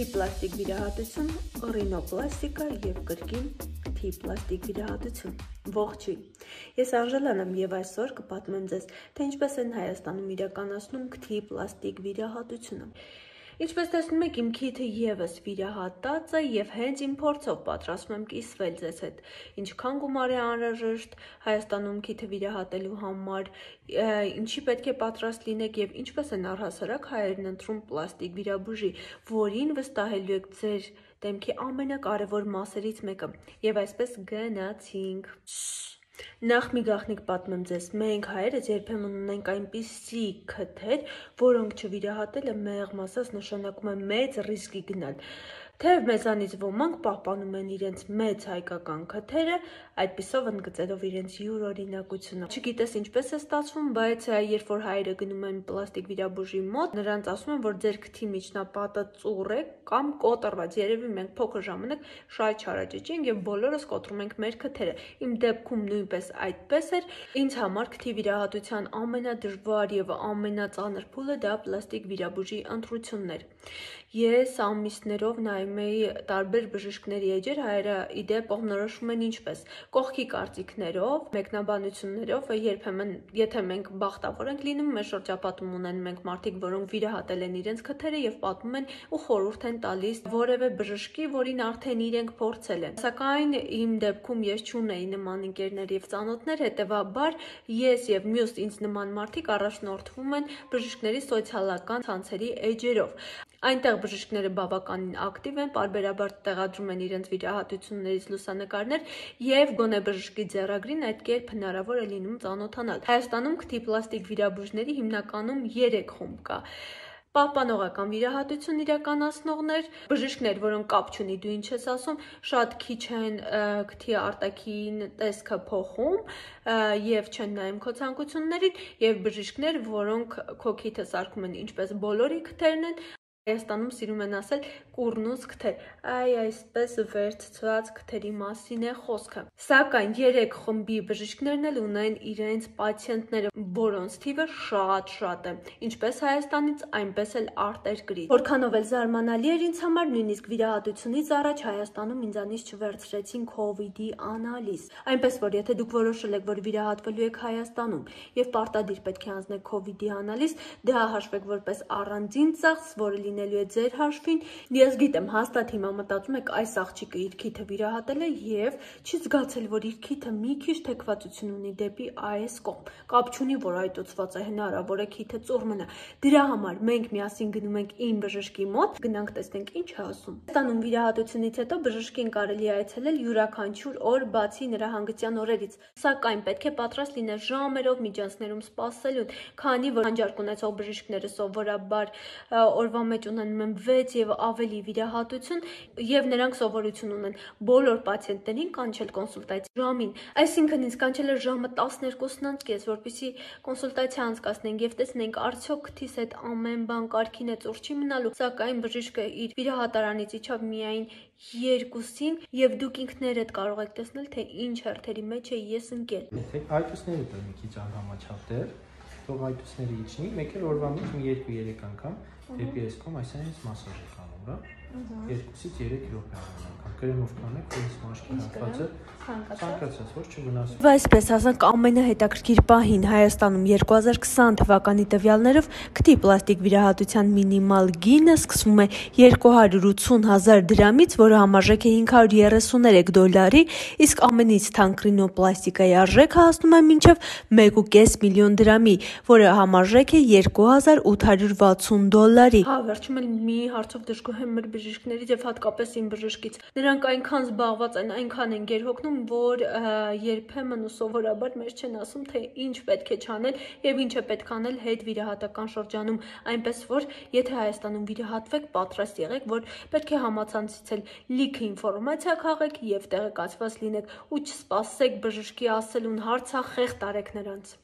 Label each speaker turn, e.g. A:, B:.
A: Թիպլաստիկ վիրահատություն, ռինոպլաստիկա և կրկին թիպլաստիկ վիրահատություն։ Ողջույն, ես Անժելան եմ և այսօր կպատմեմ ձեզ, թե ինչպես են Հայաստանում իրականացնում թիպլաստիկ վիրահատությունը։ Ինչպես տեսնում եք, իմ քիթը ևս վիրահատած է և հենց իմ փորձով պատրաստում եմ կիսվել ձեզ հետ։ Ինչքան գումար է անհրաժեշտ Հայաստանում քիթը վիրահատելու համար, ինչի պետք է պատրաստ լինեք և ինչպես են առհասարակ հայերն ընտրում պլաստիկ վիրաբուժի, որին վստահելու եք ձեր դեմքի ամենակարևոր մասերից մեկը։ Եվ այսպես գնացինք։ Նախ մի գաղտնիք պատմեմ ձեզ, մենք հայերս երբեմն ունենք այնպիսի քթեր, որոնք չվիրահատելը մեղմ ասած նշանակում է մեծ ռիսկի գնալ։ Թեև մեզանից ոմանք պահպանում են իրենց մեծ հայկական քթերը, այդպիսով ընդգծելով իրենց յուրօրինակությունը։ Չգիտես ինչպես է ստացվում, բայց երբ որ հայերը գնում են պլաստիկ վիրաբուժի մոտ, նրանց ասում են, որ ձեր քթի միջնապատը ծուռ է կամ կոտրված։ Երևի մենք փոքր ժամանակ շատ չարաճճի և բոլորս կոտրում ենք մեր քթերը։ Իմ դեպքում նույնպես այդպես էր։ Ինձ համար քթի վիրահատության ամենադժվար և ամենածանր փուլը դա պլաստիկ վիրաբուժի ընտրությունն էր։ Ես ամիսներով նայում էի տարբեր բժիշկների էջեր, հայերը ի դեպ կողմնորոշվում են ինչպես՝ կողքի կարծիքներով, մեկնաբանություններով, երբեմն եթե մենք բախտավոր ենք լինում, մեր շրջապատում ունեն մենք մարդիկ, որոնք վիրահատել են իրենց քթերը և պատմում են ու խորհուրդ են տալիս որևէ բժշկի, որին արդեն իրենք փորձել են։ Սակայն իմ դեպքում ես չունեի նման ընկերներ և ծանոթներ, հետևաբար ես և մյուս ինձ նման մարդիկ առաջնորդվում են բժիշկների սոցիալական ցանցերի էջերով։ Այնտեղ բժիշկները բավականին ակտիվ են, պարբերաբար տեղադրում են իրենց վիրահատություններից լուսանկարներ և գոնե բժշկի ձեռագրին այդ կերպ հնարավոր է լինում ծանոթանալ։ Հայաստանում քթի պլաստիկ վիրաբույժների հիմնականում 3 խումբ կա։ Պահպանողական վիրահատություն իրականացնողներ, բժիշկներ, որոնք կապ չունի դու ինչ ես ասում, շատ քիչ են քթի արտաքին տեսքը փոխում և չեն նայում քո ցանկություններին, և բժիշկներ, որոնք քո քիթը սարքում են ինչպես բոլորի քթերն են, Հայաստանում սիրում են ասել կուռնուց քթեր, այսպես վերցված քթերի մասին է խոսքը։ Սակայն 3 խմբի բժիշկներն էլ ունեն իրենց պացիենտները, որոնց թիվը շատ է, ինչպես Հայաստանից, այնպես էլ արտերկրից։ Որքանով էլ զարմանալի էր ինձ համար, նույնիսկ վիրահատությունից առաջ Հայաստանում ինձանից չվերցրեցին COVID-ի անալիզ։ Այնպես որ եթե դուք որոշել եք, որ վիրահատվելու եք Հայաստանում և պարտադիր պետք է անձնեք COVID-ի անալիզ, դա հաշվեք որպես առանձին ծախս, որը լինելու է ձեր հաշվին։ Ես գիտեմ, հաստատ հիմա մտածում եք այս աղջիկը իր քիթը վիրահատել է և չի զգացել, որ իր քիթը մի քիչ թեքվածություն ունի դեպի այս կողմ։ Կապ չունի, որ այտուցված է, հնարավոր է քիթը ծուռ մնա։ Դրա համար մենք միասին գնում ենք իմ բժշկի մոտ, գնանք տեսնենք ինչ է ասում։ Ստանում վիրահատությունից հետո բժշկին կարելի է այցելել յուրաքանչյուր օր, բացի նրա հանգստյան օրերից։ Սակայն պետք է պատրաստ լինել ժամերով միջանցքներում սպասելուն, քանի որ հանճարկ ունեցող բժիշկները սովորաբար օրվա մեջ ունենում են 6 և ավելի վիրահատություն և նրանք սովորություն ունեն բոլոր պացիենտներին կանչել կոնսուլտացիա ժամին։ Այսինքն ինձ կանչել էր ժամը 12:30, որպեսզի կոնսուլտացիա անցկացնենք և տեսնենք արդյոք քթիս հետ ամեն բան կարգին է, ծուռ չի մնալու։ Սակայն բժիշկը իր վիրահատարանից իջավ միայն 2-ին և դուք ինքներդ կարող եք տեսնել, թե ինչ հերթերի մեջ է ես ընկել։
B: Այտուցները դա մի քիչ անհամաչափ էր, թող այտուցները իջնի, մեկ էլ օրվա մեջ 2-3 անգամ դեպի այս կողմ այսինքն մասաժ եք անում, հա։ 2-ից 3 րոպե անգամ կրեմով կանեք, որից մաշկի հատվածը ցանկացած որ չվնասվի։
A: Եվ այսպես ասենք ամենահետաքրքիր պահին Հայաստանում 2020 թվականի տվյալներով քթի պլաստիկ վիրահատության մինիմալ գինը սկսվում է 280,000 դրամից, որը համարժեք է $533, իսկ ամենից թանկ ռինոպլաստիկայի արժեքը հասնում է մինչև 1,5 միլիոն դրամի, որը համարժեք է $260։ Հա, վերջում էլ մի հարցով դժգոհ եմ մեր բժիշկներից և հատկապես իմ բժշկից։ Նրանք այնքան զբաղված են, այնքան են գերհոգնում, որ երբեմն ու սովորաբար մեզ չեն ասում, թե ինչ պետք է չանել և ինչ է պետք անել հետվիրահատական շրջանում, այնպես որ եթե Հայաստանում վիրահատվեք, պատրաստ եղեք, որ պետք է համացանցից էլ լիքը ինֆորմացիա քաղեք և տեղեկացված լինեք ու չսպասեք բժշկի ասելուն, հարցախեղդ արեք նրանց։